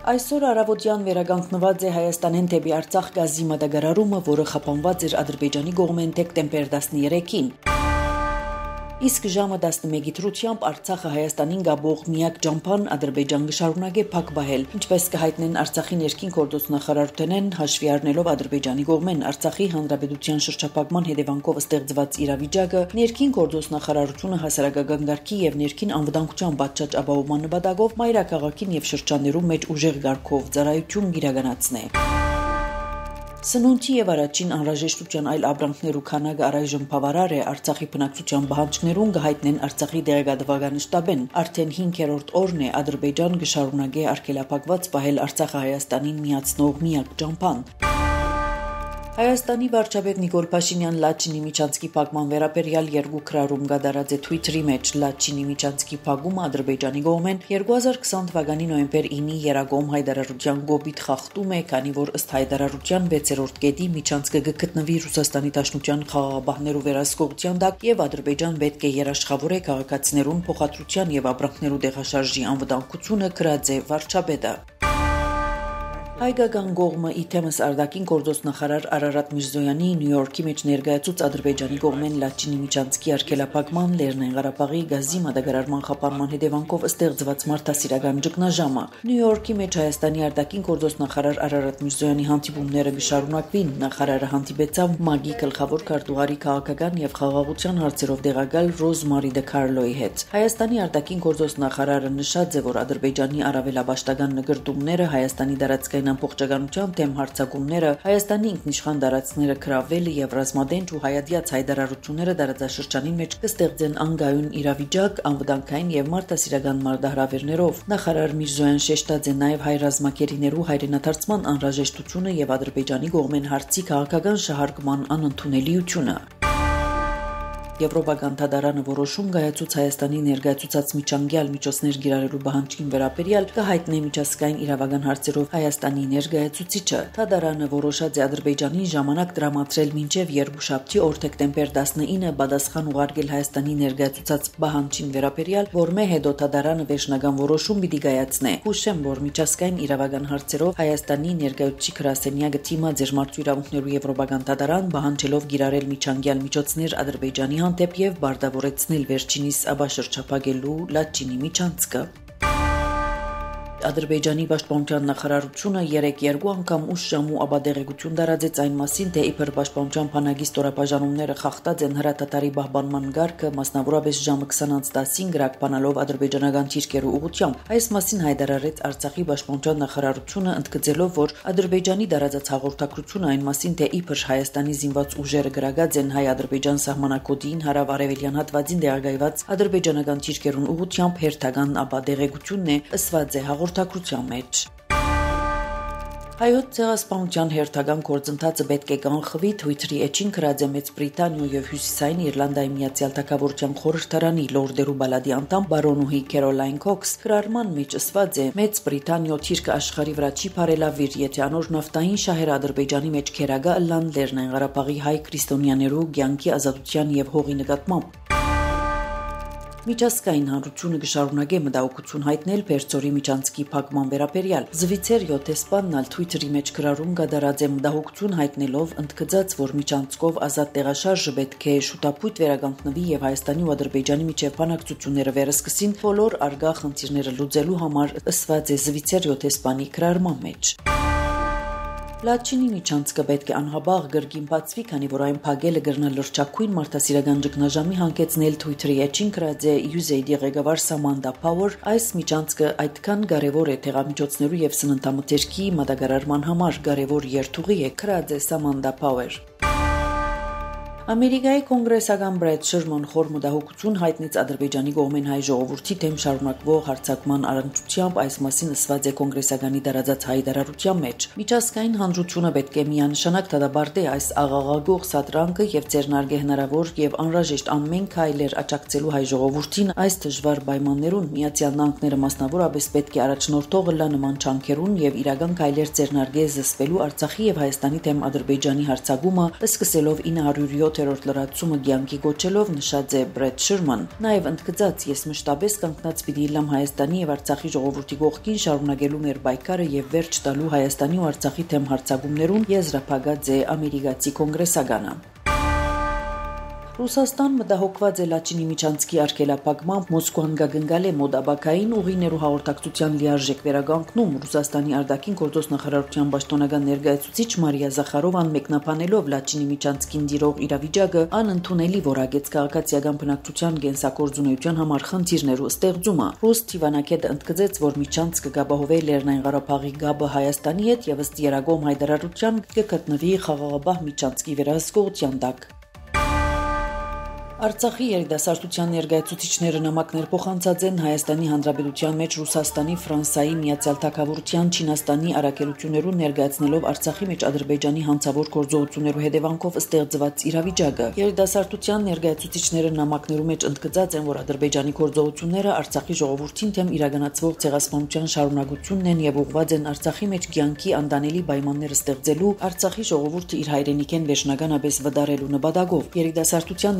Այսօր առավոտյան վերականգնված է Հայաստանեն դեպի Արցախ գազի մատակարարումը, որը խափանված էր Ադրբեջանի կողմեն դեկտեմբեր 13-ին։ Իսկ ժամը 11-ի դրությամբ Արցախը Հայաստանին գաբող միակ ճամփան Ադրբեջան կշարունակե փակ բահել, ինչպես կհայտնեն Արցախի ներքին գործնախարարութենեն հաշվի առնելով Ադրբեջանի կողմեն Արցախի հանրապետության շրջափակման հետևանքով ստեղծված իրավիճակը, ներքին գործնախարարությունը հասարակական գարքի եւ ներքին անվտանգության պատշաճ ապահովման նպատակով մայրաքաղաքին եւ շրջաններում մեջ ուժեղ գարքով ծառայություն իրականացնե։ Սնունդի եւ առաջին անհրաժեշտության այլ ապրանքներու քանակը առայժմ բավարար է Արցախի բնակչության պահանջներուն կհայտնեն Արցախի դեղեկատվական շտաբեն։ Արդեն 5-րդ օրն է Ադրբեջան կշարունակե արգելափակված պահել Արցախը Հայաստանին միացնող միակ ճամփան։ Հայաստանի վարչապետ Նիկոլ Փաշինյան Լաչինի միջանցքի փակման վերաբերյալ երկու քրարում կատարած է Twitter-ի մեջ Լաչինի միջանցքի փակումը Ադրբեջանի կողմեն 2020 թվականի նոյեմբեր 9-ի երակոմ հայտարարության գոբիթ խախտում է, քանի որ ըստ հայտարարության 6-րդ կետի միջանցքը կգտնվի Ռուսաստանի Դաշնության խաղաղապահներու վերահսկողության տակ եւ Ադրբեջան պետք է երաշխավորե քաղաքացիներուն փոխադրության եւ ապրանքներու տեղաշարժի անվտանգությունը գրած է վարչապետը։ Հայկական կողմը իթեմս արտաքին գործոստնախարար Արարատ Միրզոյանի Նյու Յորքի մեջ ներկայացուց Ադրբեջանի կողմեն Լաչինի միջանցքի արգելափակման Լեռնային Ղարաբաղի գազի մատակարարման խափանման հետևանքով ստեղծված մարդասիրական ճգնաժամը։ Նյու Յորքի մեջ Հայաստանի արտաքին գործոստնախարար Արարատ Միրզոյանի հանդիպումները կշարունակվին։ Նախարարը հանդիպեցավ ՄԱԳ-ի գլխավոր քարտուղարի քաղաքական եւ խաղաղության հարցերով տեղակալ Ռոզմարի Դե Քարլոյի հետ։ Հայաստանի արտաքին գործոստնախարարը նշած է, որ Ադրբեջանի առավելաբաշխական նկարտումները Հայաստանի դարածքային ամբողջականության դեմ հարձակումները, Հայաստանի ինքնիշխան տարածքները գրավելը եւ ռազմադենչ ու հայատյաց հայտարարությունները տարածաշրջանին մեջ կստեղծեն անգայուն իրավիճակ անվտանգային եւ մարդասիրական մարտահրավերներով։ Նախարար Միրզոյան շեշտած է նաեւ հայ ռազմակերիներու հայրենադարձման անհրաժեշտությունը եւ Ադրբեջանի կողմեն հարցի քաղաքական շահարկման անընդունելիությունը։ Եվրոպական դատարանը որոշում կայացուց Հայաստանի ներկայացուցած միջանկյալ միջոցներ գիրառելու պահանջին վերաբերյալ կհայտնի միջազգային իրավական հարցերով Հայաստանի ներկայացուցիչը։ Դատարանը որոշած է Ադրբեջանին ժամանակ տրամադրել մինչև երկուշաբթի օր դեկտեմբեր 19-ը պատասխան ուղարկել Հայաստանի ներկայացուցած պահանջին վերաբերյալ, որմե հետո դատարանը վերջնական որոշում պիտի կայացնե։ Հուշեմ, որ միջազգային իրավական հարցերով Հայաստանի ներկայացուցիչ գրասենյակը դիմաց էր մարդու իրավունքներու եվրոպական դատարան պահանջելով գիրառել միջանկյալ միջոցներ Ադրբեջանի հանդեպ եւ բարտավորեցնել վերջինիս աբաշրջափակելու Լաչինի միջանցքը։ Ադրբեջանի պաշտպանության նախարարությունը 3 անգամ ուշ ժամու ապադեղեցություն տարածեց այն մասին, թե իբր պաշտպանության բանակի ստորաբաժանումները խախտած են հրատատարի պահպանման գարկը, մասնավորապես ժամը 20:10-ին գրակբանալով ադրբեջանական թիրքերու ուղղությամբ։ Այս մասին հայտարարեց Արցախի պաշտպանության նախարարությունը, ընդգծելով, որ Ադրբեջանի տարածած հաղորդակցությունը այն մասին, թե իբր Հայաստանի զինված ուժերը գրակած են հայ-ադրբեջան սահմանակոդին հարավ-արևելյան հատվածին տեղակայված ադրբեջանական թիրքերուն ուղղությամբ հերթական ապադեղեցությունն է, ըսված է հաղորդակցության մեջ։ Հայոց ցեղասպանության հերթական գործընթացը պետք է կանխվի Twitter-ի էջին գրած է Մեծ Բրիտանիա եւ Հյուսիսային Իռլանդիայի Միացյալ Թագավորության խորհրդարանի Լորդերու բալադի անդամ բարոնուհի Քերոլայն Քոքս գրարման մեջ ասված է. Մեծ Բրիտանիա թիրքը աշխարհի վրա չի բարելավիր, եթե անոր նավթային շահերը Ադրբեջանի մեջ քերագա ըլլան Լեռնային Ղարաբաղի հայ քրիստոնյաներու կյանքի ազատության եւ հողի նկատմամբ։ Միջազգային հանրությունը կշարունակե մտահոգություն հայտնել Պերձորի միջանցքի փակման վերաբերյալ։ Զվիցեր 7-սպանն Twitter-ի մեջ գրառում կատարած է մտահոգություն հայտնելով, ընդգծած, որ միջանցքով ազատ տեղաշարժը պետք է շուտապույտ վերականգնվի եւ Հայաստանի ու Ադրբեջանի միջև բանակցությունները վերսկսին բոլոր արգա խնդիրները լուծելու համար, ըսված է Զվիցեր 7-սպանի գրառման մեջ։ Լաչինի միջանցքը պետք է անհաբաղ գրգին բացվի, քանի որ այն փակելը կրնա լրջակույն մարդասիրական ճգնաժամի հանգեցնել Twitter-ի էջին գրած է USAID ղեկավար Սամանդա Փաուեր։ Այս միջանցքը այդքան կարևոր է տեղամիջոցներու եւ սննդամթերքի մատակարարման համար, կարևոր երթուղի է, գրած է Սամանդա Փաուեր։ Ամերիկայի կոնգրեսական Բրեդ Շերման խոր մտահոգություն հայտնեց Ադրբեջանի կողմեն հայ ժողովրդի դեմ շարունակվող հարձակման առընթությամբ, այս մասին ասված է կոնգրեսականի տարածած հայտարարության մեջ։ Միջազգային հանրությունը պետք է միանշանակ դադարեցնի այս աղաղագող սադրանքը եւ ձեռնարկի հնարավոր եւ անհրաժեշտ ամեն քայլեր աջակցելու հայ ժողովրդին այս դժվար պայմաններուն։ Միացյալ Նահանգները մասնավորապես պետք է առաջնորդող լա նման չանքերուն եւ իրական քայլեր ձեռնարկի զսպելու Արցախի եւ Հայաստանի դեմ Ադրբեջանի հարձակումը, սկսելով 907 7-րդ լրացումը կյանքի կոչելով նշած է Բրեդ Շիրման, նաև ընդգծած ես մշտապես կանգնած պիտի լամ Հայաստանի եւ Արցախի ժողովրդի կողքին շարունակելու մեր պայքարը եւ վերջ տալու Հայաստանի ու Արցախի թեմ հարձակումներուն եզրափակած է ամերիկացի կոնգրեսականը։ Ռուսաստան մտահոգված է Լաչինի միջանցքի արգելափակմամբ Մոսկվան գագնգալ է մոդաբակային ուղիներու հաղորդակցության լիարժեք վերագանքնում Ռուսաստանի արտաքին գործոս նախարարության պաշտոնական ներկայացուցիչ Մարիա Զախարովան մեկնաբանելով Լաչինի միջանցքին դիրող իրավիճակը անընդունելի որակեց քաղաքացիական բնակչության կենսակորձունեության համար խնդիրներու ստեղծումը։ Ռուս Թիվանակետը ընդգծեց, որ միջանցքը կապահովի Լեռնային Ղարաբաղի գաբը Հայաստանի հետ եւ ըստ Երագոմ հայտարարության կգտնվի խաղաղապահ միջանցքի վերահսկողության տակ։ Արցախի երիտասարդության ներկայացուցիչները նամակներ փոխանցած են Հայաստանի Հանրապետության մեջ Ռուսաստանի, Ֆրանսիայի, Միացյալ Թագավորության, Չինաստանի առաքելություններուն ներկայացնելով Արցախի մեջ Ադրբեջանի հանցավոր գործողություններու հետևանքով ստեղծված իրավիճակը։ Երիտասարդության ներկայացուցիչները նամակներու մեջ ընդգծած են, որ Ադրբեջանի գործողությունները Արցախի ժողովրդին թեմ իրականացվող ցեղասպանության շարունակությունն են եւ ուղղված են Արցախի մեջ կյանքի անդանելի պայմաններ ստեղծելու, Արցախի ժողովուրդը իր հայրենիքեն վերջնականապես վտարելու նպատակով։ Երիտասարդության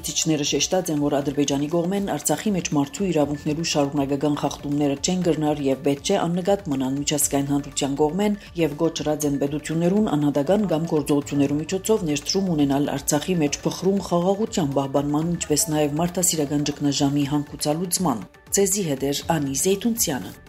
ներկայացուցիչները շեշտած են, որ Ադրբեջանի կողմեն Արցախի մեջ մարդու իրավունքներու շարունակական խախտումները չեն կրնար եւ պետք է աննկատ մնան միջազգային հանրության կողմեն եւ գոչրած են պետություններուն անհատական կամ գործողություններու միջոցով ներդրում ունենալ Արցախի մեջ փխրուն խաղաղության պահպանման, ինչպես նաեւ մարդասիրական ճգնաժամի հանգուցալուծման։ Ցեզի հետ է Անի Զեյթունցյանը։